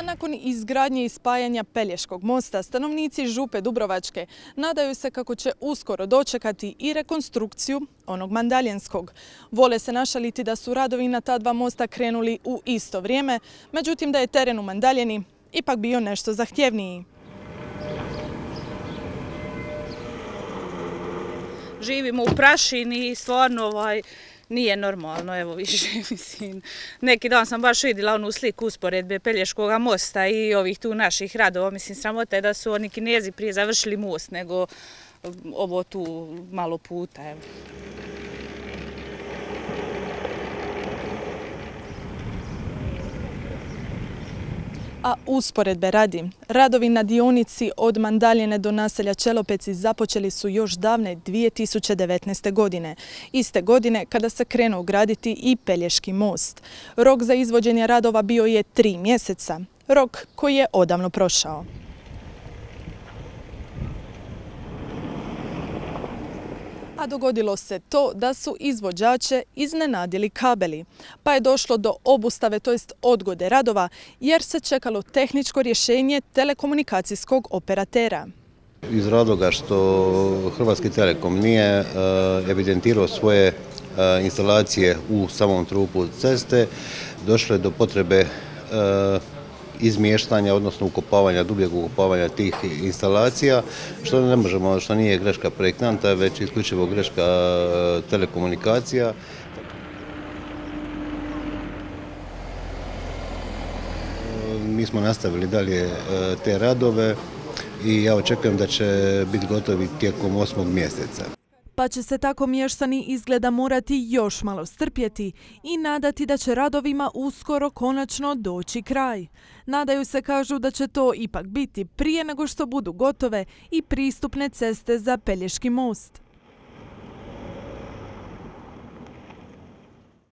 nakon izgradnje i spajanja Pelješkog mosta, stanovnici Župe Dubrovačke nadaju se kako će uskoro dočekati i rekonstrukciju onog mandaljenskog. Vole se našaliti da su radovi na ta dva mosta krenuli u isto vrijeme, međutim da je teren u Mandaljeni ipak bio nešto zahtjevniji. Živimo u prašini i stvarno nije normalno, evo više, mislim. Neki dan sam baš vidjela onu sliku usporedbe Pelješkog mosta i ovih tu naših radova. Mislim, sramota je da su oni Kinezi prije završili most nego ovo tu malo puta, evo. A usporedbe radi, radovi na dionici od Mandaljene do naselja Čelopeci započeli su još davne 2019. godine. Iste godine kada se krenuo graditi i Pelješki most. Rok za izvođenje radova bio je 3 mjeseca, rok koji je odavno prošao. A dogodilo se to da su izvođače iznenadili kabeli, pa je došlo do obustave, to jest odgode radova, jer se čekalo tehničko rješenje telekomunikacijskog operatera. Iz razloga što Hrvatski Telekom nije evidentirao svoje instalacije u samom trupu ceste, došlo je do potrebe izmještanja, odnosno ukopavanja, dubljeg ukopavanja tih instalacija, što ne možemo, što nije greška projektanta, već isključivo greška telekomunikacija. Mi smo nastavili dalje te radove i ja očekujem da će biti gotovi tijekom 8. mjeseca. Pa će se tako mještani izgleda morati još malo strpjeti i nadati da će radovima uskoro konačno doći kraj. Nadaju se, kažu, da će to ipak biti prije nego što budu gotove i pristupne ceste za Pelješki most.